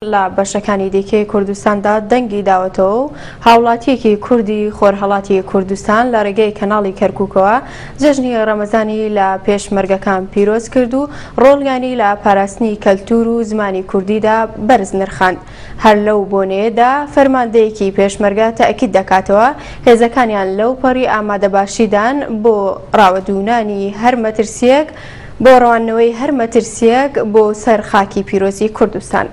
لە بەشەکانی دیکەی کوردستاندا دەنگی داوەتەوە و هاوڵاتییەکی کوردی خۆرهەڵاتی کوردستان لە ڕێگەی کەناڵی کەرکوکەوە جەژنی ڕەمەزانی لە پێشمەرگەکان پیرۆز کرد و ڕۆڵیانی لە پاراستنی کەلتور و زمانی کوردیدا بەرز نرخاند. هەر لەو بۆنەیەدا فەرماندەیەکی پێشمەرگە تەئکید دەکاتەوە هێزەکانیان لەوپەڕی ئامادەباشیدان بۆ ڕاوەدوونانی هەر مەترسییەک بۆ ڕەواندنەوەی هەر مەترسییەک بۆ سەر خاکی پیرۆزی کوردستان.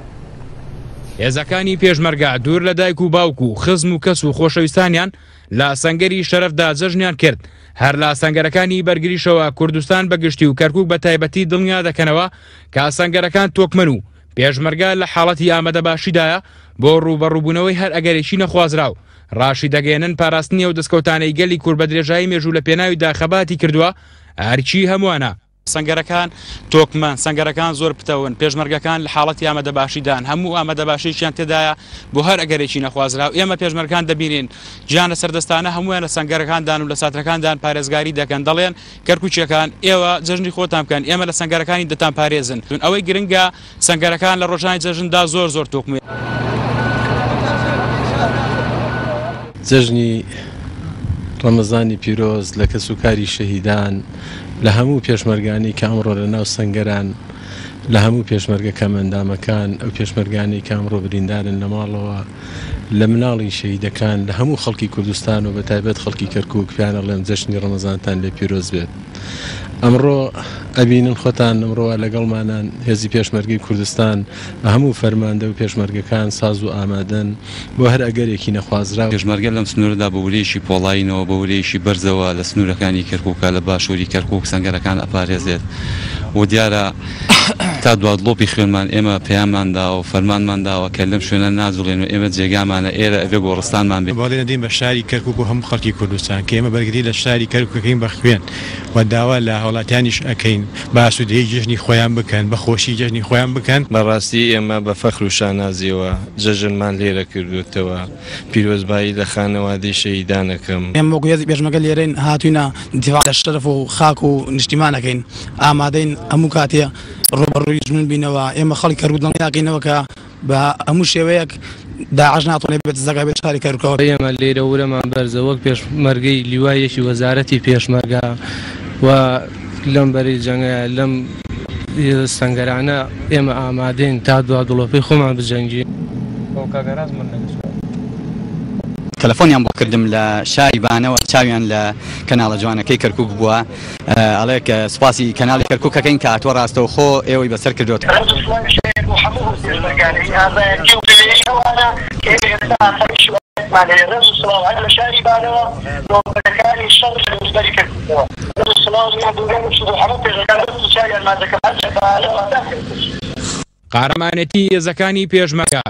هێزەکانی پێشمەرگە دوور لە دایک و باوک و خزم و کەس و خۆشەویستانیان لە سەنگەری شەرەفدا جەژنیان کرد، هەر لە سەنگەرەکانی بەرگریشەوە کوردستان بە گشتی و کەرکوک بە تایبەتی دڵنیا دەکەنەوە کە سەنگەرەکان تۆکمەن و پێشمەرگە لە حاڵەتی ئامادەباشیدایە بۆ ڕووبەڕووبوونەوەی هەر ئەگەرێکی نەخوازراو. ڕاشیدەگەیەنن پاراستنی ئەو دەستکەوتانەی گەلی کورد بە درێژایی مێژوو لە پێناویدا خەباتی کردووە ئەرکی هەمووانە. سەنگەرەکان تۆکمەن، سەنگەرەکان زۆر پتەون، پێشمەرگەکان لە حاڵەتی ئامادەباشیدان، هەموو ئامادەباشییەکیان تێدایە بۆ هەر ئەگەرێکی نەخوازراو، ئێمە پێشمەرگان دەبینین گیان لەسەر دەستانە هەموویان لە سەنگەرەکاندان و لە ساترەکاندان پارێزگاری دەکەن، دەڵێن کەرکوکییەکان ئێوە جەژنی خۆتان بکەن، ئێمە لە سەنگەرەکانی دەتانپارێزن، ئەوەی گرنگە سەنگەرەکان لە ڕۆژانی جەژندا زۆر زۆر تۆکمەیە. جەژنی ڕەمەزانی پیرۆز لە کەسوکاری شەهیدان، لە هەموو پێشمەرگانی کە ئەمڕۆ لە ناو سەنگەران، لە هەموو پێشمەرگە کەمئەندامەکان، ئەو پێشمەرگانەی کە ئەمڕۆ بریندارن لە ماڵەوە، لە مناڵی شەهیدەکان، لە هەموو خەڵکی کوردستان و بە تایبەت خەڵکی کەرکوک پێیان ئەڵێم جەژنی ڕەمەزانتان لێ پیرۆز بێت. ئەمڕۆ ئەبینن خۆتان ئەمڕۆ وا لەگەڵمانان هێزی پێشمەرگەی کوردستان بە هەموو فەرماندە و پێشمەرگەکان ساز و ئامادەن بۆ هەر ئەگەرێکی نەخوازراو. پێشمەرگە لەم سنوورەدا بە ورەیەکی پۆڵایینەوە، بە ورەیەکی بەرزەوە لە سنوورەکانی کەرکووکە، لە باشووری کەرکووک سەنگەرەکان ئەپارێزێت و دیارە تا دوا دڵۆپی خوێنمان ئێمە پەیاممان داوە و فەرمانمان داوە کە لەم شوێنە ناجوڵێن و ئێمە جێگامانە ئێرە ئەبێ گۆڕستانمان بێ. بەڵێن ئەدەین بە شاری کەرکوک و هەموو خەڵکی کوردستان کە ئێمە بەرگری لە شاری کەرکوک ئەکەین بە خوێن و داوا لە هاوڵاتیانیش ئەکەین بە ئاسوودەیی جەژنی خۆیان بکەن، بە خۆشی جەژنی خۆیان بکەن. بەڕاستی ئێمە بە فەخر و شانازیەوە جەژنمان لێرە کردووتەوە، پیرۆزبایی لە خانەوادەی شەهیدان ئەکەم. ئێمە وەکو هێزی پێشمەرگە لێرەین هاتووینە دیفاع لە شەرەف و خاک و نیشتیمان ئەکەین، ئامادەین هەموو کاتێ ڕووبەڕووی دوژمن بینەوە، ئێمە خەڵکی کەرکوک دڵنیاکەینەوە کە بە هەموو شێوەیەک داعش ناتوانێت بێتە زەگای بێت شاری کەرکوکەوە. ئێمە لێرە ورەمان بەرزە وەک پێشمەرگەی لیوای یەکی وەزارەتی پێشمەرگە و لەم بەرەی جەنگە لەم سەنگەرانە ئێمە ئامادەین تا دوا دڵۆپەی خۆمان بجەنگین. تەلەفۆنیان بۆ کردم لە شاری بانەوە چاویان لە کەناڵە جوانەکەی کەرکوک بووە ئەڵێ کە سوپاسی کەناڵی کەرکوک ئەکەین کە هاتووە ڕاستەوخۆ ئێوەی بەسەر کردۆتەوە. ڕێز و سڵاویش هەیە بۆ هەموو ئەو پێشمەرگانەی ئازایەتی و بوێری ئەوانە کە ئێمە ئێستا ئاسایش و ئەمنیەتمان هەیە. ڕێز و سڵاو هەر لە شاری بانەوە بۆ بەرەکانی شەڕ لە دەوروبەری کەرکوکەوە. ڕێز و سڵاو میاندووگانیش بۆ هەموو پێشمەرگان دەست و چاویان ماچ دەکەم هەر لە بانەوە تا کەرکوک. قارەمانێتی هێزەکانی پێشمەرگە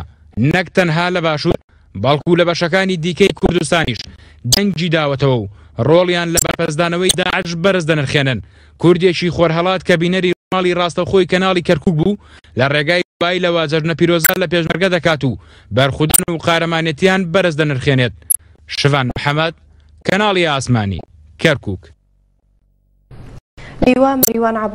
نەک تەنها لە باشوور، بەڵکو لە بەشەکانی دیکەی کوردستانیش دەنگی داوەتەوە و ڕۆڵیان لە بەرپەرچدانەوەی داعش بەرز دەنرخێنن. کوردێکی خۆرهەڵات کە بینەری ڕووماڵی ڕاستەوخۆی کەناڵی کەرکوک بوو، لە ڕێگای مۆبایلەوە جەژنە پیرۆزە لە پێشمەرگە دەکات و بەرخودان و قارەمانێتیان بەرز دەنرخێنێت. شڤان محەمەد، کەناڵی ئاسمانی، کەرکوک. لیوا مەریوان عەبدوڵا.